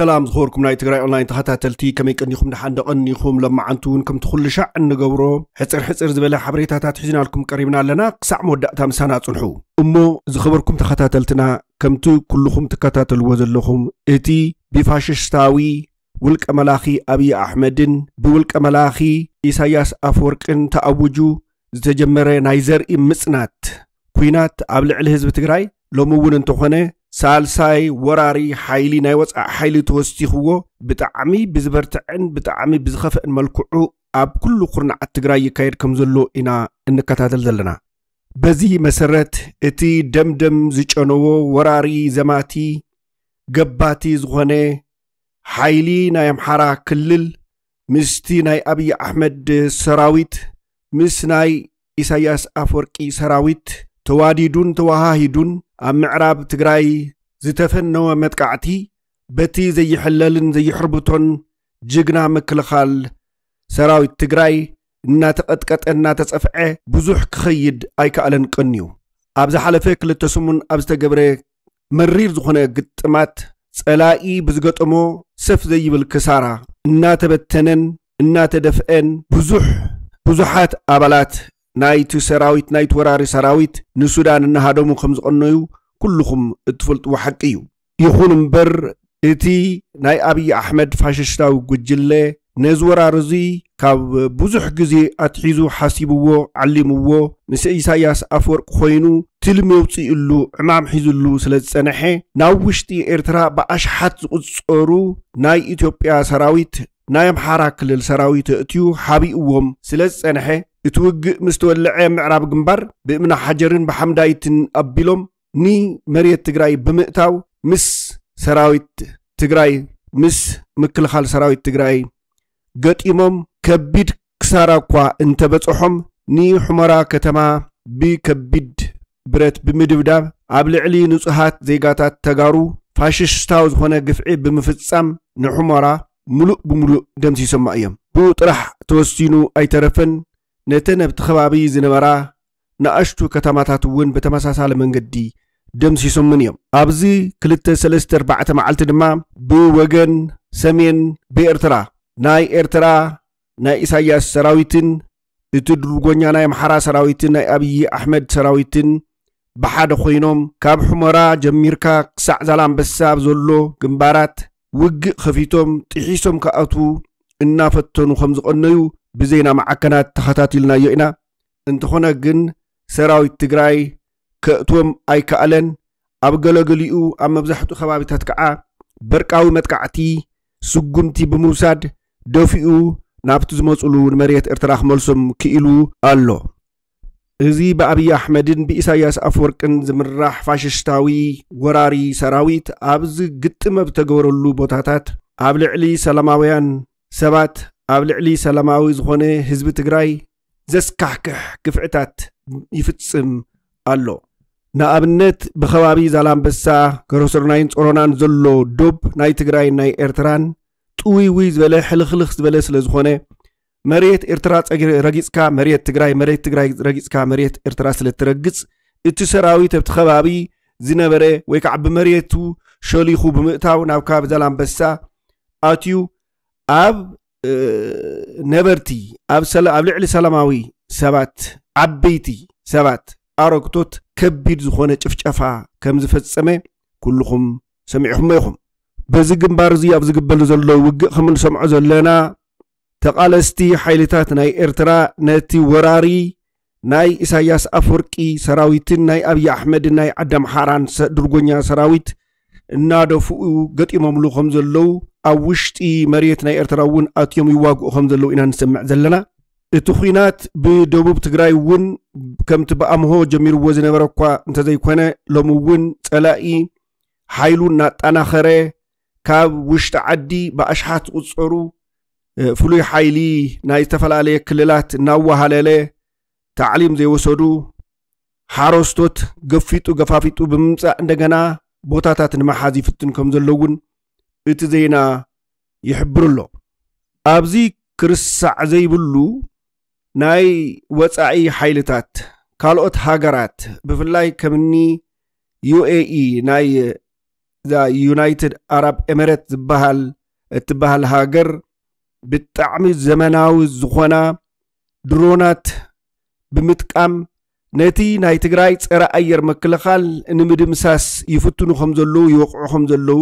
ሰላም ዝኸበርኩም ናይ ትግራይ ኦንላይን ተኸታተልቲ፣ ከመይ ቀኒኹም? ደሓን ደቐኒኹም? ለማዓንቲ እውን ከምቲ ኩሉ ሻዕ እንገብሮ ሕፅር ሕፅር ዝበለ ሓበሬታታት ሒዝናልኩም ቀሪብና ኣለና። ክሳዕ መወዳእታ ምሳና ጽንሑ። እሞ ዝኸበርኩም ተኸታተልትና፣ ከምቲ ኩልኹም ትከታተልዎ ዘለኹም፣ እቲ ብፋሽስታዊ ውልቀ መላኺ ኣብዪ ኣሕመድን ብውልቀ መላኺ ኢሳያስ ኣፈወርቅን ተኣውጁ ዝተጀመረ ናይ ዘርኢ ምጽናት ኲናት ኣብ ልዕሊ ህዝቢ ትግራይ፣ ሎሚ እውን እንተኾነ ሳልሳይ ወራሪ ሓይሊ፣ ናይ ወጻኢ ሓይሊ ተወሲኽዎ፣ ብጣዕሚ ብዝበርትዐን ብጣዕሚ ብዝኸፍአን መልክዑ ኣብ ኩሉ ኩርናዓት ትግራይ ይካየድ ከም ዘሎ ኢና እንከታተል ዘለና። በዚ መሰረት፣ እቲ ደምደም ዝጨነዎ ወራሪ ዘማቲ ገባቲ ዝኾነ ሓይሊ ናይ ኣምሓራ ክልል ምስቲ ናይ ኣብዪ ኣሕመድ ሰራዊት፣ ምስ ናይ ኢሳያስ ኣፈወርቂ ሰራዊት ተዋዲዱን ተወሃሂዱን ኣብ ምዕራብ ትግራይ ዝተፈነወ መጥቃዕቲ፣ በቲ ዘይሕለልን ዘይሕርብቶን ጅግና ምክልኻል ሰራዊት ትግራይ እናተቐጥቀጠ እናተጸፍዐ ብዙሕ ክኸይድ ኣይከኣለን ቀንዩ። ኣብ ዝሓለፈ ክልተ ሰሙን ኣብ ዝተገብረ መሪር ዝኾነ ግጥማት፣ ጸላኢ ብዝገጠሞ ሰፍ ዘይብል ክሳራ፣ እናተበተነን እናተደፍአን፣ ብዙሕ ብዙሓት ኣባላት ናይቲ ሰራዊት፣ ናይቲ ወራሪ ሰራዊት ንሱዳን እናሃደሙ ከም ዝቐነዩ ኩልኹም እትፈልጥዎ ሓቂ እዩ። ይኹን እምበር፣ እቲ ናይ ኣብዪ ኣሕመድ ፋሽስታዊ ጉጅለ ነዚ ወራር እዚ ካብ ብዙሕ ግዜ ኣትሒዙ ሓሲብዎ፣ ዓሊምዎ፣ ምስ ኢሳያስ ኣፈወርቂ ኮይኑ ትልሚ የውፅእሉ፣ ዕማም ሒዝሉ ስለ ዝጸንሐ፣ ናብ ውሽጢ ኤርትራ ብኣሽሓት ዝቑጸሩ ናይ ኢትዮጵያ ሰራዊት፣ ናይ ኣምሓራ ክልል ሰራዊት ኣእትዩ ሓቢእዎም ስለ ዝጸንሐ፣ እቲ ውግእ ምስ ተወልዐ፣ ምዕራብ ግንባር ብእምኒ ሓጀርን ብሓምዳይትን ኣቢሎም ንመሬት ትግራይ ብምእታው፣ ምስ ሰራዊት ትግራይ፣ ምስ ምክልኻል ሰራዊት ትግራይ ገጢሞም፣ ከቢድ ክሳራ እኳ እንተበጽሖም፣ ንሑመራ ከተማ ብከቢድ ብረት ብምድብዳብ፣ ኣብ ልዕሊ ንጹሃት ዜጋታት ተጋሩ ፋሽስታዊ ዝኾነ ግፍዒ ብምፍጻም፣ ንሑመራ ምሉእ ብምሉእ ደምሲሶማ እዮም። ብኡ ጥራሕ ተወሲኑ ኣይተረፈን፣ ነተን ኣብቲ ከባቢ ዝነበራ ንኣሽቱ ከተማታት እውን ብተመሳሳሊ መንገዲ ደምሲሶምን እዮም። ኣብዚ ክልተ፣ ሰለስተ፣ ኣርባዕተ መዓልቲ ድማ ብወገን ሰሜን ብኤርትራ፣ ናይ ኤርትራ ናይ ኢሳያስ ሰራዊትን እቲ ድርጎኛ ናይ ኣምሓራ ሰራዊትን ናይ ኣብዪ ኣሕመድ ሰራዊትን ብሓደ ኮይኖም፣ ካብ ሑመራ ጀሚርካ ክሳዕ ዛላምበሳ ኣብ ዘሎ ግንባራት ውግእ ከፊቶም፣ ጥሒሶም ክኣትዉ እናፈተኑ ከም ዝቐነዩ ብዜና ማዕከናት ተኸታቲልናዮ ኢና። እንተኾነ ግን፣ ሰራዊት ትግራይ ከእትዎም ኣይከኣለን። ኣብ ገለገሊኡ፣ ኣብ መብዛሕትኡ ከባቢታት ከዓ በርቃዊ መጥቃዕቲ፣ ስጉምቲ ብምውሳድ፣ ደፊኡ ናብቲ ዝመፅሉ ንመሬት ኤርትራ ክመልሶም ክኢሉ ኣሎ። እዚ ብኣብዪ ኣሕመድን ብኢሳያስ ኣፍወርቅን ዝምራሕ ፋሽስታዊ ወራሪ ሰራዊት፣ ኣብዚ ግጥም ኣብ ዝተገበረሉ ቦታታት፣ ኣብ ልዕሊ ሰላማውያን ሰባት፣ ኣብ ልዕሊ ሰላማዊ ዝኾነ ህዝቢ ትግራይ ዘስካሕክሕ ግፍዕታት ይፍጽም ኣሎ። ንኣብነት፣ ብኸባቢ ዛላምበሳ፣ ከረሰርናይን ጾሮናን ዘሎ ዶብ ናይ ትግራይን ናይ ኤርትራን ጥውይውይ ዝበለ፣ ሕልኽልኽ ዝበለ ስለ ዝኾነ፣ መሬት ኤርትራ ጸጊ-፣ ረጊጽካ መሬት ትግራይ፣ መሬት ትግራይ ረጊጽካ መሬት ኤርትራ ስለ እትረግጽ፣ እቲ ሰራዊት ኣብቲ ከባቢ ዝነበረ ወይ ከዓ ብመሬቱ ሸሊኹ ብምእታው ናብ ከባቢ ዛላምበሳ ኣትዩ፣ ኣብ፣ እ፣ ነበርቲ፣ ኣብ ሰላ-፣ ኣብ ልዕሊ ሰላማዊ ሰባት፣ ዓበይቲ ሰባት፣ ኣረግቶት ከቢድ ዝኾነ ጭፍጨፋ ከም ዝፈጸመ ኩልኹም ሰሚዕኹሞ ኢኹም። በዚ ግንባር እዚ ኣብ ዝግበር ዘሎ ውግእ ከም እንሰምዖ ዘለና፣ ተቓለስቲ ሓይልታት ናይ ኤርትራ ነቲ ወራሪ ናይ ኢሳያስ ኣፍወርቂ ሰራዊትን ናይ ኣብዪ ኣሕመድን ናይ ዓዲ ኣምሓራን ሰ-፣ ድርጎኛ ሰራዊት እናደፍኡ ገጢሞምሉ ከም ዘለዉ፣ ኣብ ውሽጢ መሬት ናይ ኤርትራ እውን ኣትዮም ይዋግኡ ከም ዘለዉ ኢና ንሰምዕ ዘለና። እቲ ኲናት ብደቡብ ትግራይ እውን ከምቲ ብኣምሆ ጀሚርዎ ዝነበረ እኳ እንተዘይኮነ፣ ሎሚ እውን ጸላኢ ሓይሉ እናጠናኸረ፣ ካብ ውሽጢ ዓዲ ብኣሽሓት ዝቑጸሩ፣ እ፣ ፍሉይ ሓይሊ ናይ ዝተፈላለየ ክልላት እናወሃለለ፣ ታዕሊም ዘይወሰዱ ሓረስቶት ገፊጡ ገፋፊጡ ብምምጻእ፣ እንደገና ቦታታት ንምሓዝ ይፍትን ከም ዘሎ እውን እቲ ዜና ይሕብር ኣሎ። ኣብዚ ክርስዕ ዘይብሉ፣ ናይ ወጻኢ ሓይልታት፣ ካልኦት ሃገራት፣ ብፍላይ ከምኒ ዩ ኤ ኢ፣ ናይ እዛ ዩናይትድ ኣራብ ኤምሬት ዝበሃል እትበሃል ሃገር ብጣዕሚ ዘመናዊ ዝኾና ድሮናት ብምጥቃም ነቲ ናይ ትግራይ ጸረ ኣየር ምክልኻል ንምድምሳስ ይፍትኑ ከም ዘለዉ ይወቕዑ ከም ዘለዉ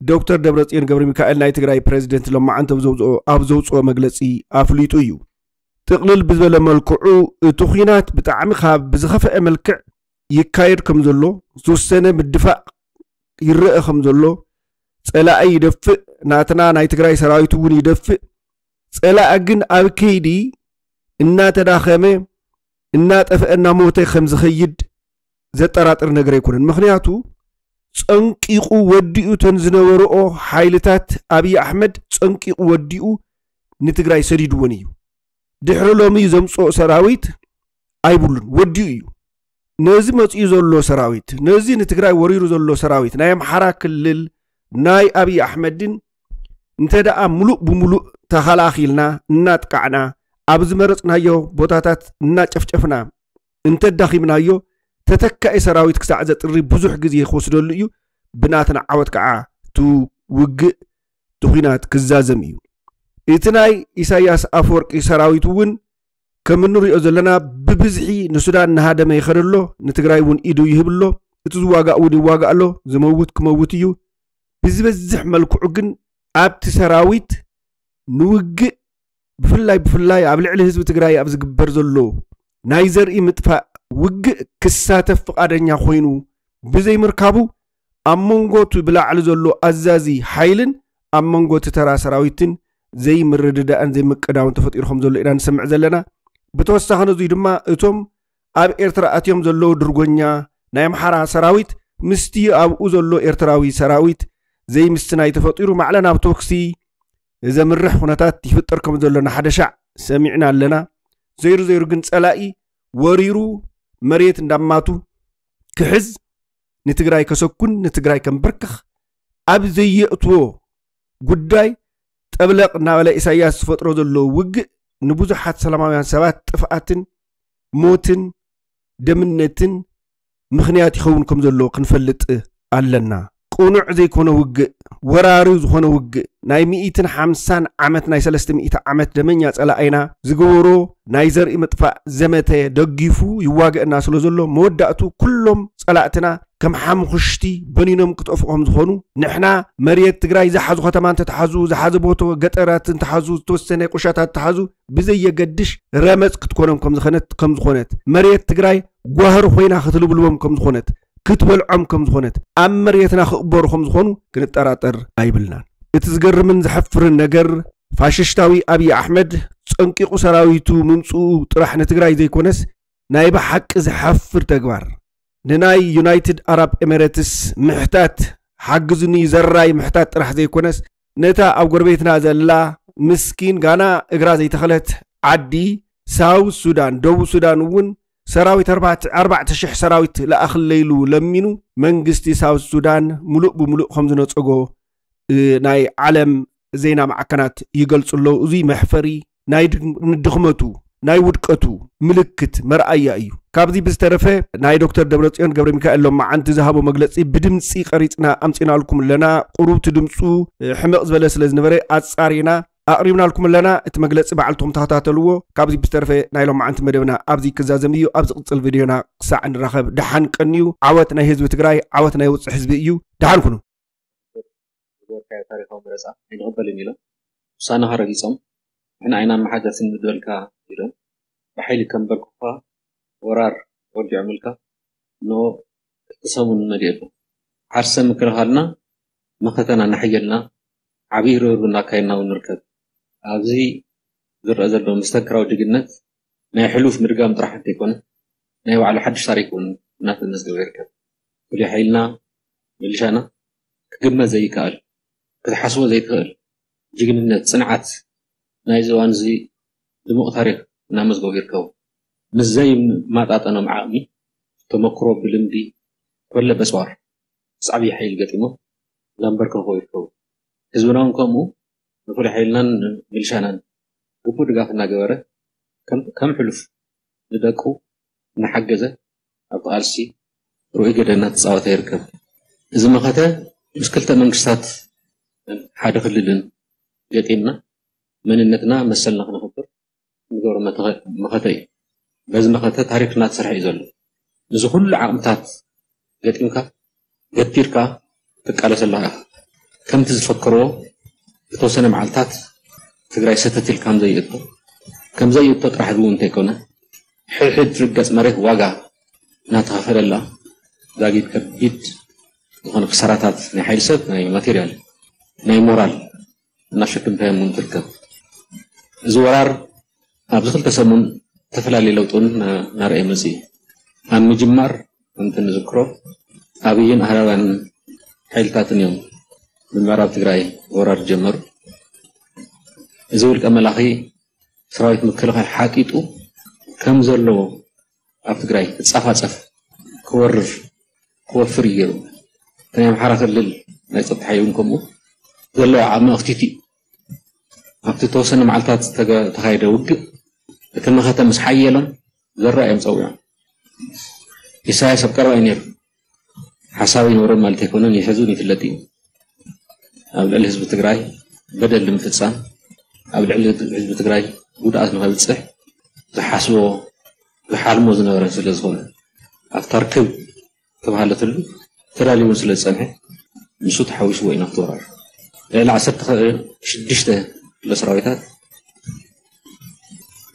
ዶክተር ደብረጽዮን ገብረ ሚካኤል ናይ ትግራይ ፕሬዚደንት ሎማዓንቲ ኣብ ዘውፅኦ- ኣብ ዘውፅኦ መግለፂ ኣፍሊጡ እዩ። ጥቕልል ብዝበለ መልክዑ እቲ ኹናት ብጣዕሚ ካብ ብዝኸፍአ መልክዕ ይካየድ ከም ዘሎ ዝተወሰነ ምድፋእ ይረአ ከም ዘሎ ጸላኢ ይደፍእ ናትና ናይ ትግራይ ሰራዊት እውን ይደፍእ ጸላኢ ግን ኣብ ከይዲ እናተዳኸመ እናጠፍአ እናሞተ ከም ዝኸይድ ዘጠራጥር ነገር ኣይኮነን። ምኽንያቱ ጸንቂቑ ወዲኡ ተን ዝነበርኦ ሓይልታት ኣብይ ኣሕመድ ጸንቂቑ ወዲኡ ንትግራይ ሰዲድዎን እዩ። ድሕሪ ሎሚ ዘምፅኦ ሰራዊት ኣይብሉን፣ ወዲኡ እዩ። ነዚ መፂኡ ዘሎ ሰራዊት፣ ነዚ ንትግራይ ወሪሩ ዘሎ ሰራዊት ናይ ኣምሓራ ክልል ናይ ኣብይ ኣሕመድን እንተ ደኣ ሙሉእ ብሙሉእ ተኸላኺልና እናጥቃዕና ኣብ ዝመረፅናዮ ቦታታት እናጨፍጨፍና እንተዳኺምናዮ ተተካኢ ሰራዊት ክሳዕ ዘጥሪ ብዙሕ ግዜ ክወስደሉ እዩ። ብናትና ዓወት ከዓ እቲ ውግእ እቲ ኹናት ክዛዘም እዩ። እቲ ናይ ኢሳያስ ኣፈወርቂ ሰራዊት እውን ከም እንሪኦ ዘለና ብብዝሒ ንሱዳን እናሃደመ ይኸደ ኣሎ። ንትግራይ እውን ኢዱ ይህብ ኣሎ። እቲ ዝዋጋእ እውን ይዋጋእ ኣሎ። ዝመውት ክመውት እዩ። ብዝበዝሕ መልክዑ ግን ኣብቲ ሰራዊት ንውግእ ብፍላይ ብፍላይ ኣብ ልዕሊ ህዝቢ ትግራይ ኣብ ዝግበር ዘሎ ናይ ዘርኢ ምጥፋእ ውግእ ክሳተፍ ፍቓደኛ ኮይኑ ብዘይምርካቡ ኣብ መንጎ እቲ ብላዕሊ ዘሎ ኣዛዚ ሓይልን ኣብ መንጎ እቲ ተራ ሰራዊትን ዘይምርድዳእን ዘይምቅዳውን ተፈጢሩ ከም ዘሎ ኢና ንሰምዕ ዘለና። ብተወሳኺ ነዙይ ድማ እቶም ኣብ ኤርትራ ኣትዮም ዘለዉ ድርጎኛ ናይ ኣምሓራ ሰራዊት ምስቲ ኣብኡ ዘሎ ኤርትራዊ ሰራዊት ዘይምስትናይ ተፈጢሩ ማዕለ ናብ ቶክሲ ዘምርሕ ኩነታት ይፍጠር ከም ዘሎ ንሓደ ሻዕ ሰሚዕና ኣለና። ዘይሩ ዘይሩ ግን ጸላኢ ወሪሩ መሬት እንዳማቱ ክሕዝ ንትግራይ ከሰኩን ንትግራይ ከንበርክኽ ኣብ ዘየእትዎ ጉዳይ ጠብለቕ እናበለ ኢሳያስ ዝፈጥሮ ዘሎ ውግእ ንብዙሓት ሰላማውያን ሰባት ጥፍኣትን ሞትን ደምነትን ምኽንያት ይኸውን ከም ዘሎ ክንፈልጥ ኣለና። ቅኑዕ ዘይኮነ ውግእ፣ ወራሪ ዝኾነ ውግእ፣ ናይ ሚእትን ሓምሳን ዓመት ናይ ሰለስተ ሚእቲ ዓመት ደመኛ ጸላኣይና ዝገበሮ ናይ ዘርኢ ምጥፋእ ዘመተ ደጊፉ ይዋገእና ስለ ዘሎ መወዳእቱ ኩሎም ጸላእትና ከም ሓምኹሽቲ በኒኖም ክጠፍኡ ከም ዝኾኑ ንሕና መሬት ትግራይ ዝሓዙ ከተማ እንተተሓዙ ዝሓዘ ቦቶ ገጠራት እንተሓዙ ዝተወሰነ ቁሻታት እንተሓዙ ብዘየገድሽ ረመፅ ክትኮኖም ከም ዝኾነት ከም ዝኾነት መሬት ትግራይ ጓህሪ ኮይና ክትልብልቦም ከም ዝኾነት ክትበልዖም ከም ዝኾነት ኣብ መሬትና ክቕበሩ ከም ዝኾኑ ክንጠራጠር ኣይብልናን። እቲ ዝገርምን ዘሐፍርን ነገር ፋሽሽታዊ ኣብይ ኣሕመድ ጸንቂቑ ሰራዊቱ ምምፅኡ ጥራሕ ንትግራይ ዘይኮነስ ናይ ብሓቂ ዘሐፍር ተግባር ንናይ ዩናይትድ ኣራብ ኤሜሬትስ ምሕታት ሓግዙኒ ዘራይ ምሕታት ጥራሕ ዘይኮነስ ነታ ኣብ ጎረቤትና ዘላ ምስኪን ጋና እግራ ዘይተኸለት ዓዲ ሳውት ሱዳን ደቡብ ሱዳን እውን ሰራዊት ኣርባዕተ ሽሕ ሰራዊት ለኣኽለይሉ ለሚኑ መንግስቲ ሳውት ሱዳን ሙሉእ ብምሉእ ከም ዝነፀጎ ናይ ዓለም ዜና ማዕከናት ይገልፁ ኣለዉ። እዙይ መሕፈሪ ናይ ድኽመቱ ናይ ውድቀቱ ምልክት መርኣያ እዩ። ካብዚ ብዝተረፈ ናይ ዶክተር ደብረፅዮን ገብረ ሚካኤል ሎማዓንቲ ዝሃቦ መግለፂ ብድምፂ ቀሪፅና ኣምፂናልኩም ኣለና። ቁሩብቲ ድምፁ ሕመቕ ዝበለ ስለ ዝነበረ ኣፃሪና ኣቕሪብናልኩም ኣለና። እቲ መግለፂ ባዕልቶም ተኸታተልዎ። ካብዚ ብዝተረፈ ናይ ሎማዓንቲ መደብና ኣብዚ ክዛዘም እዩ። ኣብ ዝቕፅል ቪድዮና ክሳዕ ንራኸብ ደሓን ቀንዩ። ዓወት ናይ ህዝቢ ትግራይ፣ ዓወት ናይ ውፅዕ ህዝቢ እዩ። ደሓን ኩኑ። ዝገበርካዮ ታሪኻዊ መረፃ ኣይንቕበልን ኢሎም ውሳነኻ ረጊፆም ንሕና ኣይናመሓደርትን ንበልካ ኢሎም ብሓይሊ ከንበርክኹኻ ወራር ወዲዖምልካ እነሆ ክልተ ሰሙን መሊኡ ኣሎ። ዓርሰ ምክልኻልና መኸተና እናሓየልና ዓብዪ ርብርብ እናካየድና እውን ንርከብ። ኣብዚ ዝረአ ዘሎ መስተንክራዊ ጅግንነት ናይ ሕሉፍ ምድጋም ጥራሕ እንተይኮነ ናይ ባዕሉ ሓድሽ ታሪክ እውን እናተመዝገበ ይርከብ። ፍሉይ ሓይልና ሚሊሻና ክግመት ዘይከኣል ክትሓስቦ ዘይትኽእል ጅግንነት፣ ፅንዓት ናይዚ እዋን እዚ ድሙቕ ታሪክ እናመዝገቡ ይርከቡ። ምስ ዘይመጣጠኖም ዓቕሚ፣ ተመክሮ፣ ብልምዲ ኮለ በፅዋር ምስ ዓብዪ ሓይሊ ገጢሞም እናንበርከኹ ይርከቡ። ህዝብና እውን ከምኡ ንፍሉይ ሓይልናን ሚሊሻናን ግቡእ ድጋፍ እናገበረ ከም ሕሉፍ ንደቁ እናሓገዘ ኣብቲ ቃልሲ ርኡይ ግደ እናተፃወተ ይርከብ። እዚ መኸተ ምስ ክልተ መንግስታት ሓደ ክልልን ገጢምና መንነትና መሰልና ክነኽብር ንገብሮ መተኸ- መኸተ እዩ። በዚ መኸተ ታሪኽና ተሰርሐ እዩ ዘሎ። እዚ ኩሉ ዓቕምታት ገጢምካ ገቲርካ ትቃለሰላ ኢኻ። ከምቲ ዝፈከርዎ ዝተወሰነ መዓልታት ትግራይ ሰተት ኢል ከም ዘይእቶ ከም ዘይእቶ ጥራሕ እውን እንተይኮነ ሕድሕድ ትርገፅ መሬት ዋጋ እናተኸፈለላ ዛጊድ ከቢድ ዝኾነ ክሳራታት ናይ ሓይሊ ሰብ ናይ ማቴሪያል ናይ ሞራል እናሸክምታዮም እውን ትርከብ። እዚ ወራር ኣብዚ ክልተ ሰሙን ዝተፈላለዩ ለውጢ እውን እናርኣየ መፅእ እዩ። ኣብ ምጅማር ከምቲ ንዝክሮ ኣብይን ኣህዳውያን ሓይልታትን እዮም ብምዕራብ ትግራይ ወራር ጀመሩ። እዚ ውልቀ መላኺ ሰራዊት ምክልኻል ሓጢጡ ከም ዘሎ ኣብ ትግራይ ክፃፋፀፍ ክወርር ክወፍር እዩ ገይሩ። እቲ ናይ ኣምሓራ ክልል ናይ ፀጥታ ሓይሊ እውን ከምኡ ዘለዎ ዓቕሚ ኣኽቲቱ እዩ። ኣብቲ ተወሰነ መዓልታት ዝተገ- ተኻየደ ውግእ እቲ መኸተ ምስ ሓየሎም ዘራ እዮም ፀዊዖም። ኢሳያስ ኣብ ቀረባ እዩ ነይሩ። ሓሳብ ይነበሮም ማለት ኣይኮነን፣ ይሕዙን ይፍለጥ እዩ። ኣብ ልዕሊ ህዝቢ ትግራይ በደል ንምፍፃም፣ ኣብ ልዕሊ ህዝቢ ትግራይ ጉድኣት ንኸብፅሕ ዝሓስቦ ዝሓልሞ ዝነበረ ስለ ዝኾነ ኣብታ ርክብ ተባሃለትሉ ተዳልዩ እውን ስለ ዝፀንሐ ንሱ ተሓዊስዎ ኢና ክትወራር ልዕሊ ዓሰርተ ሽዱሽተ ክፍለ ሰራዊታት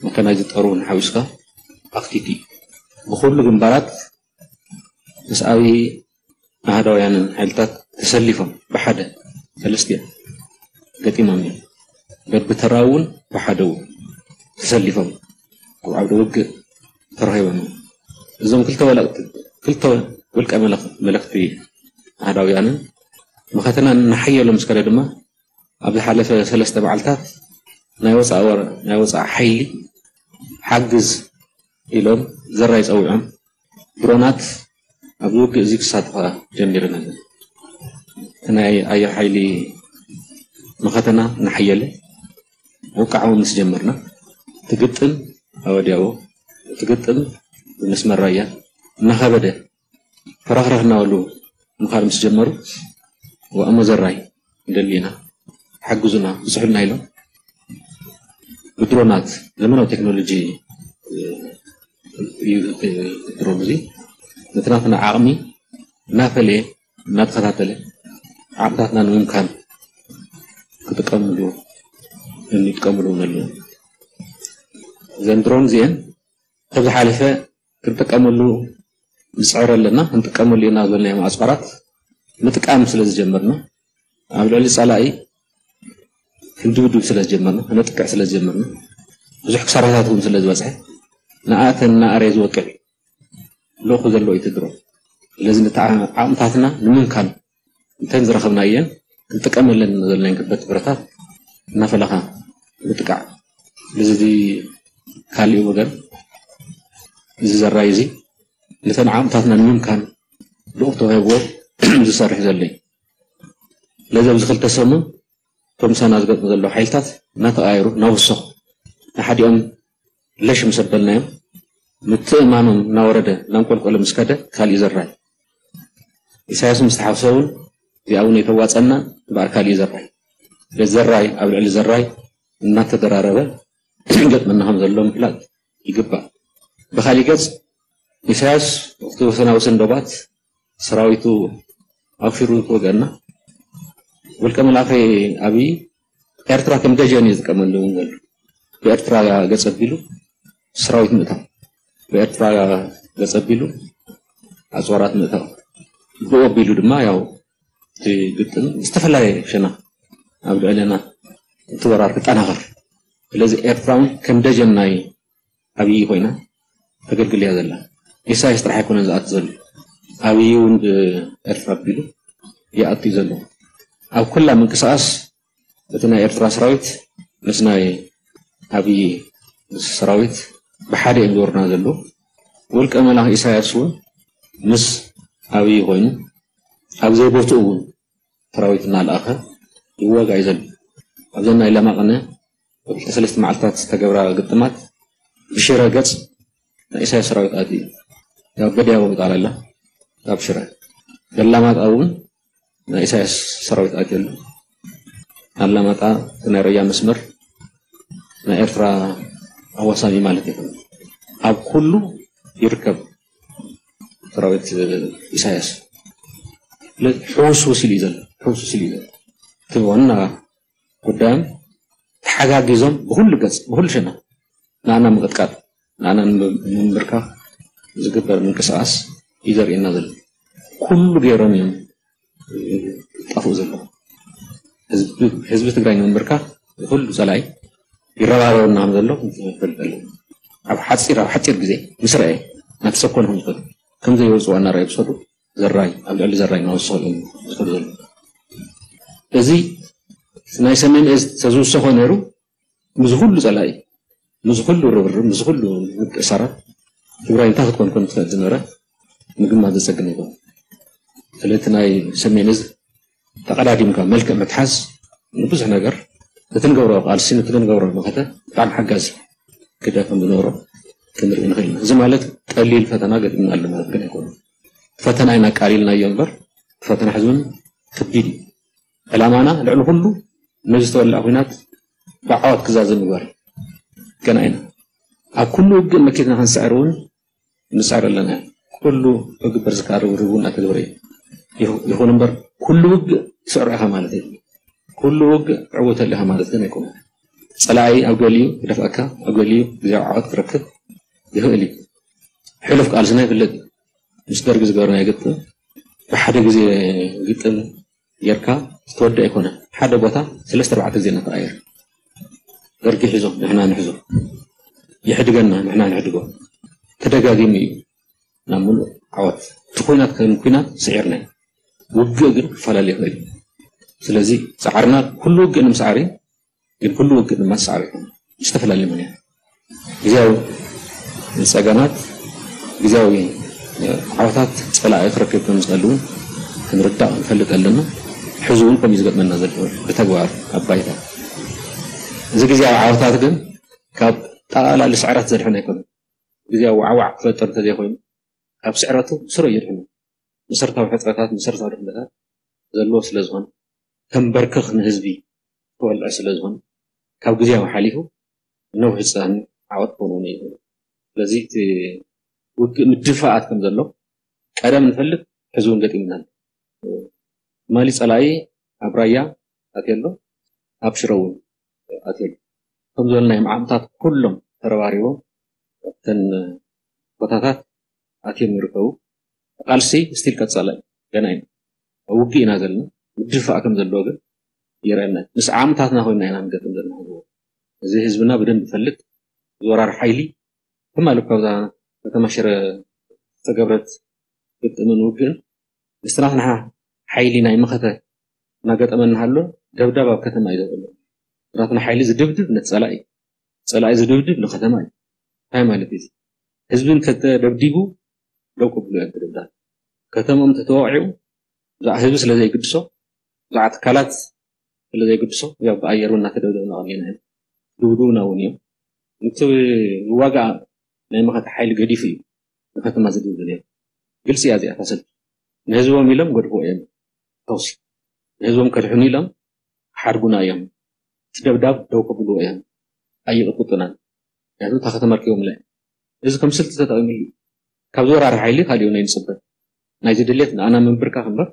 መካናይዝድ ጦር እውን ሓዊስካ ኣኽቲቲ ብኩሉ ግንባራት ምስ ኣብይ ኣህዳውያንን ሓይልታት ተሰሊፎም ብሓደ ሰለስቲኦም ገጢሞም እዮም። በብተራ እውን ብሓደ እውን ተሰሊፎም ኣብ ዓውደ ውግእ ተረኺቦም እዮም። እዞም ክልተ ወለቕቲ ክልተ ውልቀ መለኽ- መለኽቲ ኣህዳውያንን መኸተና እናሓየሎም ምስ ከደ ድማ ኣብ ዝሓለፈ ሰለስተ መዓልታት ናይ ወፃእ ወረ- ናይ ወፃእ ሓይሊ ሓግዝ ኢሎም ዘራይ ፀዊዖም ድሮናት ኣብዚ ውግእ እዚ ክሳተፋ ጀሚረን ኣለና። እቲ ናይ ኣየር ሓይሊ መኸተና እናሓየለ ውቃዕ እውን ምስ ጀመርና እቲ ግጥም ኣወዲያዎ እቲ ግጥም ብመስመር ራያ እናኸበደ ፈራኽረኽ እናበሉ ምኻድ ምስ ጀመሩ ዋእሞ ዘራይ ንደሊ ኢና ሓግዙና ብፅሑልና ኢሎም ብድሮናት ዘመናዊ ቴክኖሎጂ እዩ ድሮን እዚ ነቲ ናትና ዓቕሚ እናፈለየ እናተኸታተለ ዓቕምታትና ንምምካን ክጥቀምሉ ይጥቀምሉ እውን ኣለዉ። እዘን ድሮን እዚአን ካብ ዝሓለፈ ክንጥቀመሉ ንፅዕር ኣለና ክንጥቀመሉ ኢና ዝበልናዮም ኣፅዋራት ምጥቃም ስለ ዝጀመርና ኣብ ልዕሊ ፀላኢ ክንድብድብ ስለ ዝጀመርና ክነጥቅዕ ስለ ዝጀመርና ብዙሕ ክሳራታት እውን ስለ ዝበፅሐ ንኣተን እናኣረየ ዝወቅዕ እዩ ልእኹ ዘሎ እዩ እቲ ድሮን። ስለዚ ነቲ ዓቕምታትና ንምምካን እንተን ዝረኸብና እየን ክንጥቀመለን ዘለና ከበድቲ ብረታት እናፈለኻ ምጥቃዕ። ስለዚ ካሊእ ወገን እዚ ዘራይ እዚ ነተን ዓቕምታትና ንምምካን ልኡኽ ተዋሂብዎ ዝሰርሕ ዘሎ እዩ። ስለዚ ኣብዚ ክልተ ሰሙን እቶም ምሳና ዝገጥሙ ዘለዉ ሓይልታት እናተቐያየሩ እናወሰኹ ንሓዲኦም ለሽ ምስ ኣበልናዮም ምትእማኖም እናወረደ እናንቆልቆለ ምስ ከደ ካሊእ ዘራይ ኢሳያስ ምስ ተሓፍሰ እውን እዚኣ እውን ኣይተዋፀና እምበኣር ካሊእ ዘራይ ስለዚ ዘራይ ኣብ ልዕሊ ዘራይ እናተደራረበ ይገጥመና ከም ዘሎ ምፍላጥ ይግባእ። ብኻሊእ ገፅ ኢሳያስ እቲ ወሰናውሰን ዶባት ሰራዊቱ ኣውፊሩ ክወግአና ውልቀ መላኺ ኣብይ ኤርትራ ከም ደጀን እዩ ዝጥቀመሉ እውን ዘሎ ብኤርትራ ገፅ ኣቢሉ ሰራዊት ምእታው ብኤርትራ ገፅ ኣቢሉ ኣፅዋራት ምእታው ብኡ ኣቢሉ ድማ ያው እቲ ግጥም ዝተፈላለየ ሸና ኣብ ልዕለና እቲ ወራር ክጠናኸር ስለዚ ኤርትራ እውን ከም ደጀን ናይ ኣብይ ኮይና ተገልግል እያ ዘላ። ኢሳያስ ጥራሕ ኣይኮነን ዝኣቱ ዘሎ ኣብይ እውን ብኤርትራ ኣቢሉ ይኣቱ እዩ ዘሎ። ኣብ ኩላ ምንቅስቃስ እቲ ናይ ኤርትራ ሰራዊት ምስ ናይ ኣብይ ሰራዊት ብሓደ እዮም ዝወርና ዘለዉ። ውልቀ መላኺ ኢሳያስ እውን ምስ ኣብይ ኮይኑ ኣብ ዘይቦትኡ እውን ሰራዊት እናልኣኸ ይዋጋእ እዩ ዘሎ። ኣብዘን ናይ ለማ ቅነ ክልተ ሰለስተ መዓልትታት ዝተገብራ ግጥማት ብሽረ ገፅ ናይ ኢሳያስ ሰራዊት ኣትዩ እዩ። ያው በዲያቦ ምጣል ኣላ ካብ ሽረ ገላማጣ እውን ናይ ኢሳያስ ሰራዊት ኣትየሉ ኣላማጣ፣ ናይ ራያ መስመር ናይ ኤርትራ ኣዋሳኒ ማለት እዩ። ኣብ ኩሉ ይርከብ ሰራዊት ኢሳያስ። ስለዚ ሕውስውስ ኢሉ እዩ ዘሎ፣ ሕውስውስ ኢሉ እዩ ዘሎ። እቲ ዋና ጉዳዮም ተሓጋጊዞም ብኹሉ ገጽ፣ ብኹሉ ሸነኽ ንኣና ምቕጥቃጥ፣ ንኣና ንምንብርካኽ ዝግበር ምንቅስቓስ እዩ ዘርእየና ዘሎ። ኩሉ ገይሮም እዮም ጠፍኡ ዘለዉ። ህዝቢ ትግራይ ንምንብርካኽ ኩሉ ጸላኢ ይረባረበና ከም ዘሎ ንፈልጥ ኣለና። ኣብ ሓፂር ኣብ ሓፂር ግዜ ምስ ረኣየ ናብቲ ሰብ ኮነ ከም ዝኸዱ ከም ዘይወፅኡ ኣናረኣዩ ዝኸዱ ዘራይ ኣብ ልዕሊ ዘራይ እናወሰኸ እዮም ዝኸዱ ዘለዉ። እዚ ናይ ሰሜን እዝ ተዝውሰኾ ነይሩ ምስ ኩሉ ፀላኢ ምስ ኩሉ ርብርብ ምስ ኩሉ ምትእሳራት ትግራይ እንታይ ክትኮን ከም ትኽእል ዝነበረ ምግማት ዘፀግም ይኮን። ስለቲ ናይ ሰሜን እዝ ተቐዳዲምካ መልክዕ ምትሓዝ ንብዙሕ ነገር እቲ ንገብሮ ቃልሲ እቲ ንገብሮ መኸተ ብጣዕሚ ሓጋዚ ግደ ከም ዝነበሮ ክንርኢ ንኽእል ኢና። እዚ ማለት ቀሊል ፈተና ገጢምና ኣሎ ማለት ግን ኣይኮነ። ፈተና ኢና ኣቃሊልናዮ እምበር ፈተና ሕዝብን ከቢድ እዩ። ዕላማና ልዕሊ ኩሉ ነዚ ዝተወለዐ ኩናት ብዓወት ክዛዘም ምግባር ገና ኢና። ኣብ ኩሉ ውግእ መኪትና ክንስዕር እውን ንስዕር ኣለና። ኩሉ ክግበር ዝከኣል ርብርብ እውን ኣተግብረ እዩ። ይኹን እምበር ኩሉ ውግእ ትስዕሮ ኢኻ ማለት እዩ። ኩሉ ውግእ ትዕወተሉ ኢኻ ማለት ግን ኣይኮነ። ፀላኢ ኣብ ገሊኡ ክደፍኣካ ኣብ ገሊኡ ግዜያዊ ዓወት ክረክብ ይኽእል እዩ። ሕሉፍ ቃልስና ይፍለጥ እዩ። ምስ ደርጊ ዝገበርናዮ ግጥም ብሓደ ግዜ ግጥም ጌርካ ዝተወደ ኣይኮነ። ሓደ ቦታ ሰለስተ ኣርባዕተ ግዜ እናተቐየር ደርጊ ሒዞ ንሕና ንሕዞ ይሕድገና ንሕና ንሕድጎ ተደጋጊሙ እዩ ናብ ምሉእ ዓወት እቲ ኩናት ከም ኩናት ስዒርና ውግእ ግን ክፈላለ ይኽእል እዩ። ስለዚ ፃዕርና ኩሉ ውግእ ንምስዓር እዩ። ግን ኩሉ ውግእ ድማ ዝሰዓበ ይኮነ ዝተፈላለዩ ምክንያት ግዜያዊ ፀገማት ግዜያዊ ዓወታት ፀላኢ ክረክብ ከም ዝኽእል እውን ክንርዳእ ንፈልጥ ኣለና። ሕዚ እውን ከምኡ ዝገጥመና ዘሎ ብተግባር ኣብ ባይታ እዚ ግዜያዊ ዓወታት ግን ካብ ጠቓላሊ ስዕረት ዘድሕን ኣይኮነን። ግዜያዊ ዋዕዋዕ ክፈጥር እንተዘይኮይኑ ካብ ስዕረቱ ስረ የድሕኑ። መሰረታዊ ሕፅረታት መሰረታዊ ድኽነታት ዘለዎ ስለዝኾነ ከንበርክኽ ንህዝቢ ክወልዕ ስለዝኾነ ካብ ግዜያዊ ሓሊፉ ነዊሕ ዝፀን ዓወት ክኸውን ይኽእል። ስለዚ እቲ ውግእ ምድፋኣት ከም ዘሎ ቀደም ንፈልጥ ሕዚ እውን ገጢምና ኣሎ። ትማሊ ፀላኢ ኣብ ራያ ኣትዮ ኣሎ፣ ኣብ ሽረ እውን ኣትዮ ኣሎ። ከም ዝበልናዮም ዓቕምታት ኩሎም ተረባሪቦም ኣብተን ቦታታት ኣትዮም ይርከቡ። ቃልሲ ስቲል ቀፃላይ ገና ኢና ኣብ ውግእ ኢና ዘለና። ምድፋእ ከም ዘለዎ ግን ይረአና። ምስ ዓቕምታትና ኮይና ኢና ንገጥም ዘለና። እዚ ህዝብና ብደንብ ይፈልጥ። ዝወራር ሓይሊ ትማሊ እኳ ኣብዛ ከተማ ሽረ ዝተገብረት ግጥምን ውግእን ምስቲ ናትና ሓይሊ ናይ መኸተ እናገጠመ እናሃሎ ደብዳብ ኣብ ከተማ እዩ ዘሎ። ናትና ሓይሊ ዝድብድብ ነቲ ፀላኢ እዩ። ፀላኢ ዝድብድብ ንከተማ እዩ። እንታይ ማለት እዩ? ህዝቢ እንተተደብዲቡ ደው ከብሉ እዮም ደብዳብ። ከተሞም ተተወቂዑ ብዛዕ ህዝቢ ስለ ዘይግድሶ ብዛዕ ትካላት ስለ ዘይግድሶ ያው ብኣየር እውን እናተደብደብና ቀኒና ኢና። ድብድቡና እውን እዮም። እቲ ዝዋጋእ ናይ መኸተ ሓይሊ ገዲፉ እዩ ንከተማ ዝድብድብ ነይሩ። ግልፂ እያ እዚኣ እታ ሰልፊ። ንህዝቦም ኢሎም ገድፍዎ እዮም ተኹሲ። ንህዝቦም ከድሕኑ ኢሎም ሓድጉና እዮም። እቲ ደብዳብ ደው ከብልዎ እዮም። ኣይቕጥቅጡናን። ምክንያቱ እታ ከተማ ኣርኪቦምላ እዮም። እዚ ከም ስልቲ ተጠቒሙሉ እዩ። ካብ ዝወራሪ ሓይሊ ካሊኡ ናይ ንፅበ ናይዚ ድሌት ንኣና ምንብርካኽ እምበር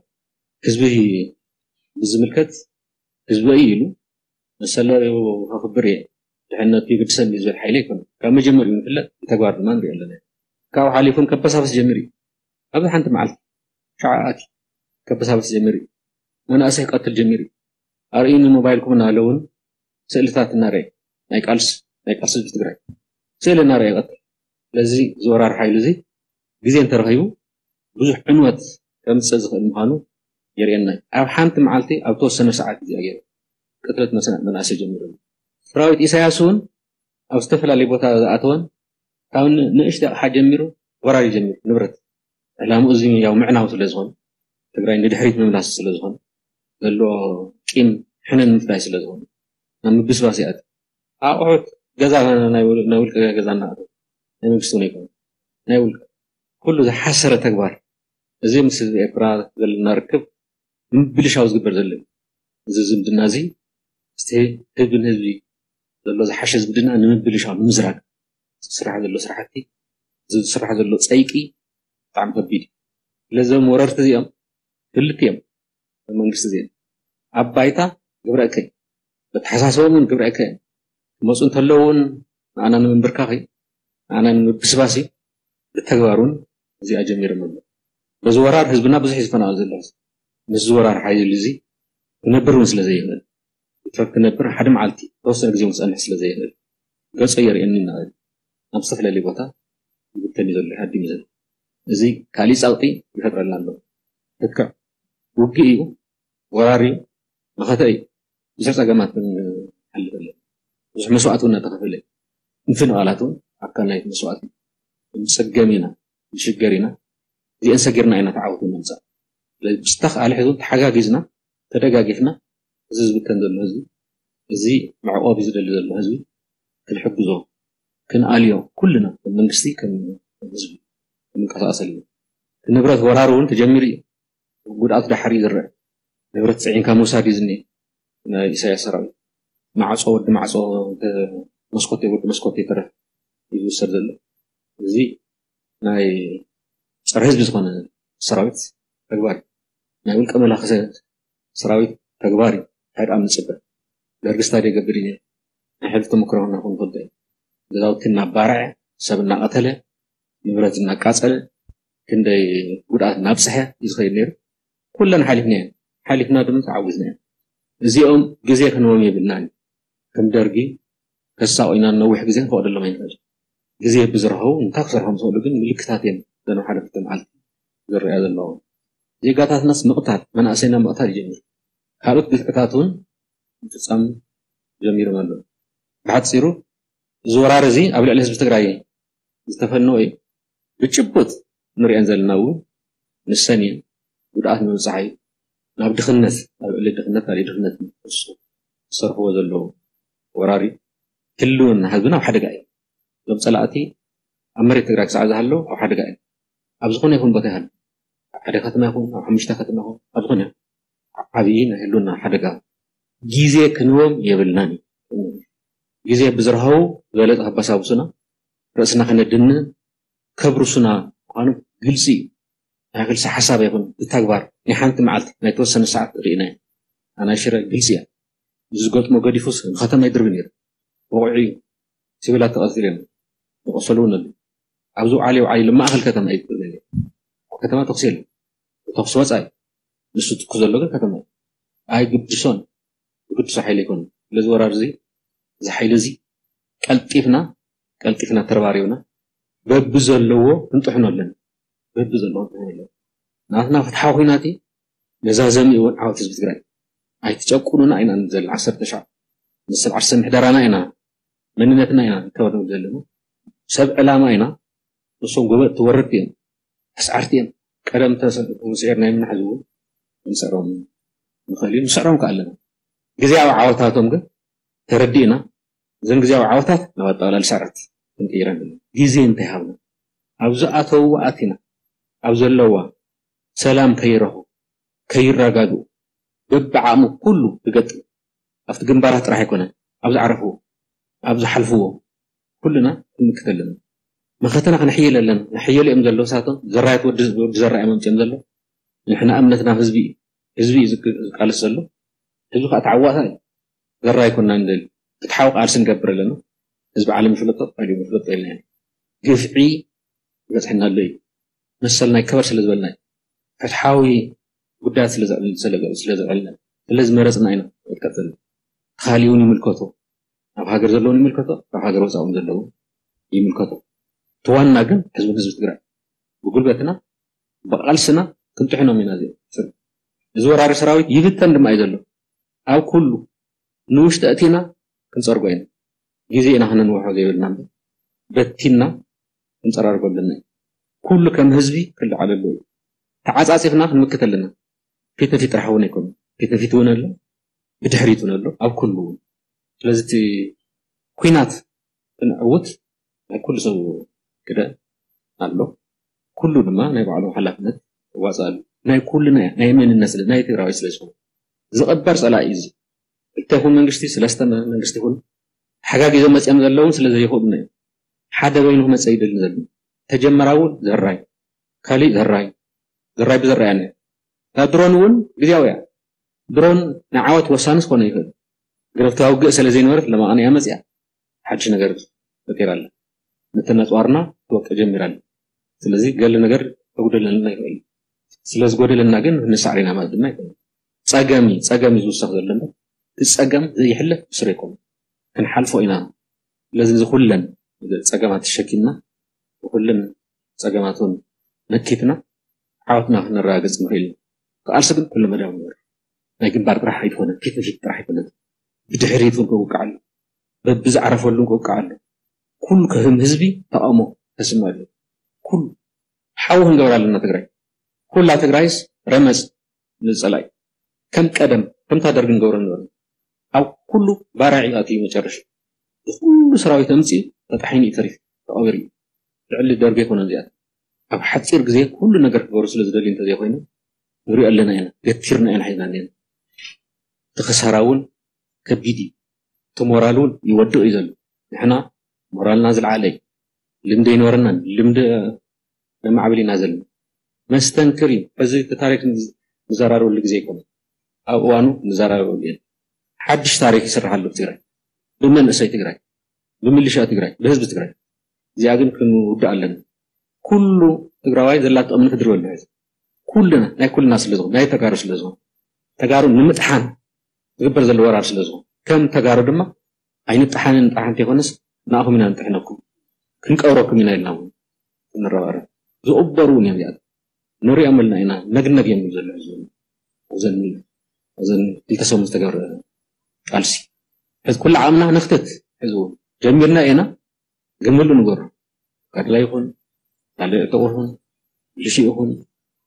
ህዝቢ ብዝምልከት ህዝቢ እዩ ኢሉ መሰለዩ ከኽብር እየ ድሕነቱ ይግድሰኒ ዝብል ሓይሊ ኣይኮነን። ካብ መጀመሪኡ ንፍለጥ ብተግባር ድማ ንሪኦ ኣለና። ካብኡ ሓሊፉን ከበሳብስ ጀሚሩ እዩ። ኣብዚ ሓንቲ መዓልቲ ሸዓ ኣትዩ ከበሳብስ ጀሚሩ እዩ። መናእሰይ ክቐትል ጀሚሩ እዩ። ኣርእዩኒ ሞባይልኩም እናበለ እውን ስእልታት እናረየ ናይ ቃልስ ናይ ቃልሲ ህዝቢ ትግራይ ስእሊ እናረየ ይቐትል። ስለዚ እዚ ወራሪ ሓይሊ እዚ ግዜ እንተረኺቡ ብዙሕ ዕንወት ከምፅእ ዝኽእል ምዃኑ የርእየና እዩ። ኣብ ሓንቲ መዓልቲ ኣብ ተወሰነ ሰዓት ግዜ ገይሩ ቅትለት መሰ- መናእሰይ ጀሚሩ ኣሎ። ሰራዊት ኢሳያስ እውን ኣብ ዝተፈላለዩ ቦታ ዝኣተወን ካብ ን- ንእሽተይ ኣቕሓ ጀሚሩ ወራር ይጀምር። ንብረት ዕላምኡ እዚ ያው ምዕናው ስለ ዝኾነ ትግራይ ንድሕሪት ምምላስ ስለ ዝኾነ ዘሎ ቂም ሕነ ንምፍዳይ ስለ ዝኾነ ናብ ምብስባስ ይኣቱ። ኣቑሑት ገዛ ናይ ውል- ናይ ውልቀ ገዛ እናኣተወ ናይ መንግስቲ እውን ኣይኮነ ናይ ውልቀ ኩሉ ዝሓሰረ ተግባር እዚ ምስ ህዝቢ ኤርትራ ዘለና ርክብ ንምብልሻው ዝግበር ዘሎ እዩ። እዚ ዝምድና እዚ፣ እቲ ህዝቢ ንህዝቢ ዘሎ ዝሓሸ ዝምድና ንምብልሻው፣ ንምዝራግ ዝስራሕ ዘሎ ስራሕቲ፣ ዝስራሕ ዘሎ ጸይቂ ብጣዕሚ ከቢድ እዩ። ስለዚ እዞም ወረርቲ እዚኦም ክልቲኦም መንግስቲ እዚኦም ኣብ ባይታ ግብረ እከይ፣ በተሓሳስቦም እውን ግብረ እከይ እዮም። ክመፁ እንተለዉ እውን ንኣና ንምንብርካኽ እዩ፣ ንኣና ንምብስባስ እዩ። ብተግባር እውን እዚኣ ጀሚሮም ኣለዉ። በዚ ወራር ህዝብና ብዙሕ እዩ ዝፈናቐል ዘሎ። ምስዚ ወራር ሓይሊ እዚ ክነብር እውን ስለ ዘይኽእል፣ ብትረፍ ክነብር ሓደ መዓልቲ ተወሰነ ግዜ እውን ክፀንሕ ስለ ዘይኽእል፣ ገጾ የርእየኒ እናበለ ናብ ዝተፈላለየ ቦታ ይብተን እዩ ዘሎ፣ ይሃድም እዩ ዘሎ። እዚ ካሊእ ጸቕጢ ይፈጥረልና ኣሎ። ልክዕ ውግእ እዩ፣ ወራር እዩ፣ መኸተ እዩ። ብዙሕ ጸገማት ክንሓልፍ ኣለና። ብዙሕ መስዋእቲ እውን እናተኸፈለ እዩ። ምፍንቓላት እውን ኣካል ናይቲ መስዋእቲ እዩ። ንጸገም ኢና፣ ንሽገር ኢና። እዚአን ሰጊርና ኢና ተዓወት ንምምጻእ። ስለዚ ብዝተኻእለ ሕዚ እውን ተሓጋጊዝና፣ ተደጋጊፍና፣ እዚ ዝብተን ዘሎ ህዝቢ፣ እዚ መዕቆቢ ዝደሊ ዘሎ ህዝቢ ክንሕግዞ፣ ክንኣልዮ፣ ኩልና ከም መንግስቲ፣ ከም ህዝቢ ክንንቀሳቐስ ኣለና። እቲ ንብረት ወራር እውን ተጀሚሩ እዩ። ጉድኣት ዳሕር እዩ ዝረአ። ንብረት ጽዒንካ ምውሳድ እዩ ዝኒአ። ናይ ኢሳያስ ሰራዊት ማዕጾ፣ ወዲ ማዕጾ፣ መስኮት፣ ወዲ መስኮት ይትረፍ እዩ ዝውሰድ ዘሎ። እዚ ናይ ጸረ ህዝቢ ዝኾነ ሰራዊት ተግባር እዩ። ናይ ውልቀ መላኺ ሰ-፣ ሰራዊት ተግባር እዩ። እንታይ ደኣ ንጽበ? ደርጊ ስታይ ይገብር እዩ ነይሩ። ናይ ሕሉፍ ተመክሮ ክኾነና ይኽእል እዩ። ገዛውቲ እናባርዐ፣ ሰብ እናቐተለ፣ ንብረት እናቃጸለ፣ ክንደይ ጉድኣት እናብጽሐ እዩ ዝኸይድ ነይሩ። ኩለን ሓሊፍናየን። ሓሊፍና ድማ ተዓዊዝናየን። እዚኦም ግዜ ክንህቦም የብልናን። ከም ደርጊ ከሳቑዩና ነዊሕ ግዜ ክንፈቕደሎም ኣይንኽእል። ግዜ ብዝረኸቡ እንታይ ክሰርሖም ዝኽእሉ ግን ምልክታት እዮም። ዘን ሓደ ክልተ መዓልቲ ዝረኣያ ዘለዉ። ዜጋታትናስ ምቕታል፣ መናእሰይና ምቕታል ይጀምር። ካልኦት ግፍዕታት እውን ምፍጻም ጀሚሮም ኣለዉ። ብሓጺሩ፣ እዚ ወራር እዚ ኣብ ልዕሊ ህዝቢ ትግራይ ዝተፈነወ እዩ። ብጭቡጥ ንሪአን ዘለና እውን ንሰን እየን። ጉድኣት ንምብጻሕ እዩ። ናብ ድኽነት፣ ናብ ልዕሊ ድኽነት፣ ካልእ ድኽነት ንክሱ ዝሰርሕዎ ዘለዉ ወራር እዩ። ህልውና ህዝብና ኣብ ሓደጋ እዩ። እዞም ጸላእቲ ኣብ መሬት ትግራይ ክሳዕ ዝሃለዉ ኣብ ሓደጋ እዮም። ኣብ ዝኾነ ይኹን ቦታ ይሃሉ፣ ኣብ ሓደ ከተማ ይኹን፣ ኣብ ሓሙሽተ ከተማ ይኹን፣ ኣብ ዝኾነ ዓብዪ ናይ ህልውና ሓደጋ። ግዜ ክንቦም የብልናን እዩ። ግዜ ብዝረኸቡ ዝበለጠ ከባሳብሱና፣ ርእስና ከነድንን ከብርሱና ምዃኑ ግልጺ እዩ። ናይ ክልሲ ሓሳብ ኣይኮነን፣ ብተግባር ናይ ሓንቲ መዓልቲ፣ ናይ ተወሰነ ሰዓት ርኢናዮ። ኣናይ ሽረ ግልጺ እያ። ዝገጥሞ ገዲፉስ ንከተማ ይድርቢ ነይሩ። ወቑዒ እዩ። ሲቪላት ተቐቲሎም እዮም። ዝቆሰሉ እውን ኣለዉ። ኣብዚ ውዓሊ ውዓሊ ኢሉ ማእኸል ከተማ እዩ ዝድርቢ ነይሩ። ኣብ ከተማ ተኹሲ የለን። ተኹሲ ወፃኢ። ንሱ ትኩስ ዘሎ ግን ከተማ እዩ። ኣይግድሶን። ዝግድሶ ሓይሊ ኣይኮነን። ስለዚ ወራር እዚ፣ እዚ ሓይሊ እዚ ቀልጢፍና፣ ቀልጢፍና ተረባሪብና በቢ ዘለዎ ክንጥሕኖ ኣለና። በቢ ዘለዎ ክንጥሕኖ ኣለና። ናትና ፍትሓዊ ኲናት እዩ። መዛዘሚ እውን ዓወት ህዝቢ ትግራይ። ኣይትጨቁኑና ኢና ንብል ዘለና። ዓሰርተ ሻዕ ንሰብ ዓርሰ ምሕደራና ኢና፣ መንነትና ኢና ንከበር ንብል ዘለና። ሰብ ዕላማ ኢና። ንሶም ጎበጥቲ ወረድቲ እዮም። ኣስዓርቲ እዮም። ቀደም ተስ-፣ ተስዒርና የምናሕ ዝብሉ ክንስዕሮም ንኽእል እዩ። ንስዕሮም ከ ኣለና። ግዜያዊ ዓወታቶም ግን ተረዲእና፣ እዘን ግዜያዊ ዓወታት ናብ ኣጠቓላሊ ስዕረት ክንቅይረን ኣለና። ግዜ እንተይሃብና፣ ኣብ ዝኣተውዋ ኣቲና፣ ኣብ ዘለዋ ሰላም ከይረኽቡ፣ ከይረጋግኡ፣ በብዓቕሙ ኩሉ ክገጥም፣ ኣብቲ ግንባራት ጥራሕ ኣይኮነን፣ ኣብ ዝዓረፍዎ፣ ኣብ ዝሓልፍዎ፣ ኩልና ክንምክት ኣለና። መኸተና ክነሕይል ኣለና። ነሕየሉ እዮም ዘለዉ ሳቶም፣ ዘራየት ወዲ፣ ወዲ ዘራይ እዮም ኣምፅኦም ዘለዉ። ንሕና እምነትና ህዝቢ እዩ። ህዝቢ እዩ ዝግ-፣ ዝቃለስ ዘሎ። ህዝቢ ከዓ ተዓዋታይ እዩ። ዘራይ ኣይኮንና ንደሊ። ፍትሓዊ ቃልሲ ንገብር ኣለና። ህዝቢ ዓለም ይፍለጦ፣ ዓለም ይፍለጦ ኢልና ኢና። ግፍዒ ይበፅሐና ኣሎ እዩ። መሰልና ይከበር ስለ ዝበልና እዩ። ፍትሓዊ ጉዳያት ስለ ዘዕል-፣ ስለ፣ ስለ ዘዕልና፣ ስለ ዝመረፅና ኢና ክንቀፅል። ካሊእ እውን ይምልከቶ። ኣብ ሃገር ዘለውን ይምልከቶ፣ ኣብ ሃገር ወፃእ እውን ዘለውን ይምልከቶ። እቲ ዋና ግን ህዝብን ህዝቢ ትግራይ ብጉልበትና ብቃልስና ክንጥሕኖም ኢና። እዚ እዚ ወራሪ ሰራዊት ይብተን ድማ እዩ ዘሎ። ኣብ ኩሉ ንውሽጢ ኣእቲና ክንፀርጎ ኢና። ግዜ ኢና ክነንውሖ ዘይብልና እምበር በቲና ክንፀራርጎ ኣለና። ኩሉ ከም ህዝቢ ክለዓል ኣለዎ። ተዓፃፂፍና ክንምክት ኣለና። ፊት ንፊት ጥራሕ እውን ኣይኮነን። ፊት ንፊት እውን ኣሎ፣ ብድሕሪት እውን ኣሎ፣ ኣብ ኩሉ እውን። ስለዚ እቲ ኲናት ክንዕውት ናይ ኩሉ ሰብ ግደ ኣሎ። ኩሉ ድማ ናይ ባዕሉ ሓላፍነት ይዋፅእ ኣሎ። ናይ ኩልና እያ፣ ናይ መንነት ስለ ናይ ትግራዋይ ስለ ዝኾነ ዝቐበር ጸላኢ እዩ። እዚ ክልተ ይኹን መንግስቲ፣ ሰለስተ መ- መንግስቲ ይኹን ሓጋጊዞም መጺኦም ዘለውን ስለ ዘይኽእሉና እዩ። ሓደ በይኑ ክመጽእ ይደሊ ዘሎ ተጀመራዊ ዘራይ ካሊእ ዘራይ ዘራይ ብዘራይ ኣነ እዛ ድሮን እውን ግዜያዊ እያ። ድሮን ንዓወት ወሳኒ ክኾነ ይኽእል። ግረፍቲ ውግእ ስለ ዘይነበረት ለማቐን እያ መጽያ። ሓድሽ ነገር ፈጢራ ኣላ። ነተን ኣጽዋርና ትወቅዕ ጀሚራ ኣላ። ስለዚ ገለ ነገር ከጉደለልና ይኽእል። ስለ ዝጎደለና ግን ንሳዕር ኢና ማለት ድማ ይኽእል። ጸገም እዩ፣ ጸገም እዩ ዝውሰኽ ዘሎ እምበር እቲ ጸገም ዘይሕለፍ ብስሩ ኣይኮነን። ክንሓልፎ ኢና። ስለዚ እዚ ኩለን ጸገማት ተሸኪምና ብኩለን ጸገማት እውን መኪትና ዓወትና ክነረጋግጽ ንኽእል ኢና። ክኣልሲ ግን ኩለ መዳያዊ ነገር ናይ ግንባር ጥራሕ ኣይኮነን፣ ፊት ንፊት ጥራሕ ኣይኮነን። ብድሕሪት እውን ክውቃዕ ኣሎ፣ በብዝዓረፈሉ እውን ክውቃዕ ኣሎ። ኩሉ ከም ህዝቢ ተቓውሞ ከስምዕ ኣሎ። ኩሉ ሓዊ ክንገብራ ኣለና ትግራይ። ኩላ ትግራይስ ረመጽ ንጸላኢ ከም ቀደም ከምታ ደርጊ ንገብሮ ነበርና። ኣብ ኩሉ ባርዕ እዩ ኣትዩ መጨረሻ። ብኩሉ ሰራዊት ኣምጺኡ ተጣሒኑ እዩ ተሪፉ፣ ተቐቢሩ እዩ። ልዕሊ ደርጊ ኣይኮነን እዚኣቶም። ኣብ ሓጺር ግዜ ኩሉ ነገር ክገብሩ ስለ ዝደልዩ እንተዘይኮይኑ ንሪኦ ኣለና ኢና፣ ገቲርና ኢና ሒዝና እኒአና። እቲ ክሳራ እውን ከቢድ እዩ። እቲ ሞራል እውን ይወድቕ እዩ ዘሎ። ንሕና ሞራልና ዝለዓለ እዩ። ልምዲ ኣይነበረናን፣ ልምዲ ነማዕብል ኢና ዘለና። መስተንክር እዩ። ሕዚ እቲ ታሪክ ንዘራረበሉ ግዜ ኣይኮነን። ኣብ እዋኑ ንዘራረበሉ ኢና። ሓድሽ ታሪክ ይስራሕ ኣሎ ብትግራይ፣ ብመንእሰይ ትግራይ፣ ብምልሻ ትግራይ፣ ብህዝቢ ትግራይ። እዚኣ ግን ክንውዳእ ኣለና። ኩሉ ትግራዋይ ዘላቶ እምኒ ክድርበሉ ሕዚ ኩልና ናይ ኩልና ስለ ዝኾነ ናይ ተጋሩ ስለ ዝኾነ ተጋሩ ንምጥሓን ዝግበር ዘሎ ወራር ስለ ዝኾነ ከም ተጋሩ ድማ ኣይንጠሓንን ጥራሕ እንተይኮነስ ንኣኹም ኢና ንጥሕነኩም ክንቀብረኩም ኢና ኢልና እውን ክንረባረብ ዝቕበሩ እውን እዮም እዚኣቶም ንሪኦም ኣለና ኢና ነግነግ እዮም ዝብል ዘሎ ሕዚ እውን ኣብዘን ኣብዘን ክልተ ሰሙን ዝተገብረ ቃልሲ ሕዚ ኩሉ ዓቕምና ነኽትት ሕዚ እውን ጀሚርና ኢና ግን ምሉ ንገሩ ጋድላ ይኹን ካልእ ዕጡቕ ይኹን ብልሽእ ይኹን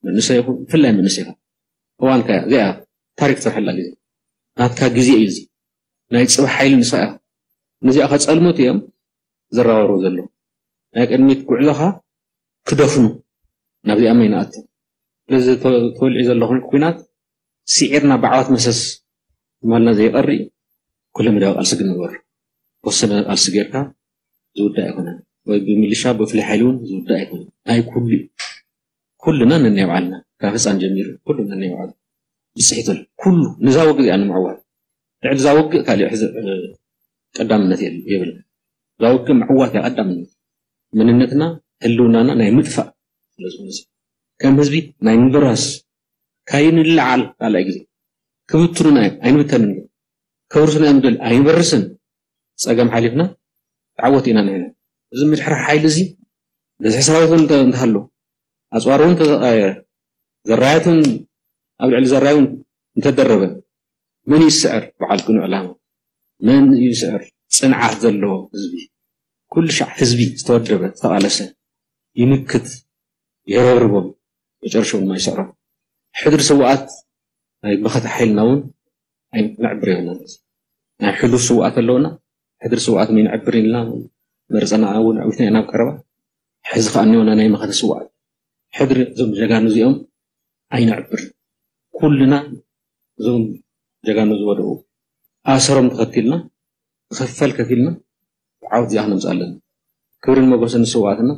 መንእሰይ ይኹን ብፍላይ መንእሰይ ይኹን እዋንካ እያ እዚኣ ታሪክ ትሰርሐላ ግዜ ናትካ ግዜ እዩ እዚ ናይ ፅባሕ ሓይሊ ንሳ እያ ነዚኣ ከፀልሙት እዮም ዝራወሩ ዘለዉ ናይ ቅድሚት ጉዕዞኻ ክደፍኑ ናብዚኣ መይ ንኣቱ ስለዚ ተወልዒ ዘለኹን ኩናት ስዒርና ብዓወት መሰስ ማልና ዘይቐሪ ኩለ መዳዊ ቃልሲ ግን ንገሩ ተወሰነ ቃልሲ ጌርካ ዝውዳእ ኣይኮነን ወይ ብሚሊሻ ብፍሉይ ሓይሊ እውን ዝውዳእ ኣይኮነን ናይ ኩሉ እዩ ኩልና ነናይ ባዕልና ካብ ህፃን ጀሚሩ ኩሉ ነናይ ባዕሉ ብፅሒት ኣሎ ኩሉ ንዛ ውግእ እያ ንምዕዋት ልዕሊ እዛ ውግእ ካሊእ ሕዚ ቀዳምነት የብልን እዛ ውግእ ምዕዋት እያ ቀዳምነት መንነትና ህልውናና ናይ ምጥፋእ ስለዝኾነ ከም ህዝቢ ናይ ምብራስ ካይንለዓል ካልኣይ ግዜ ክብትኑና እዮም ኣይንብተንን ከብርሱና እዮም ደል ኣይንበርስን ፀገም ሓሊፍና ተዓወት ኢና ንሕና እዚ ምድሕራሕ ሓይሊ እዚ በዝሒ ሰራዊት እውን እንተሃሎ ኣፅዋር እውን ተዘቃየረ ዘራያት እውን ኣብ ልዕሊ ዘራይ እውን እንተደረበ መን ይስዕር በዓል ቅኑዕ ዕላማ መን ይስዕር ፅንዓት ዘለዎ ህዝቢ ኩሉ ሻዕ ህዝቢ ዝተወደበ ዝተቃለሰ ይምክት የረብርቦም መጨረሻ እውን ኣይስዕሮም ሕድሪ ስውኣት ናይ መኸተ ሓይልና እውን ኣይነዕብር የብልና ናይ ሕሉፍ ስውኣት ኣለውና ሕድሪ ስውኣት መይንዕብር ኢልና መርፀና እውን ዕዊትና ኢና ኣብ ቀረባ ሕዚ ከዓ እኒኦና ናይ መኸተ ስውኣት ሕድሪ እዞም ጀጋኑ እዚኦም ኣይነዕብር ኩልና እዞም ጀጋኑ ዝወደቁ ኣሰሮም ተኸቲልና ክኽፈል ከፊልና ዓወት እዚኣ ክነምፅእ ኣለና ክብርን መጎስን ንስውኣትና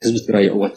ህዝቢ ትግራይ ይዕወት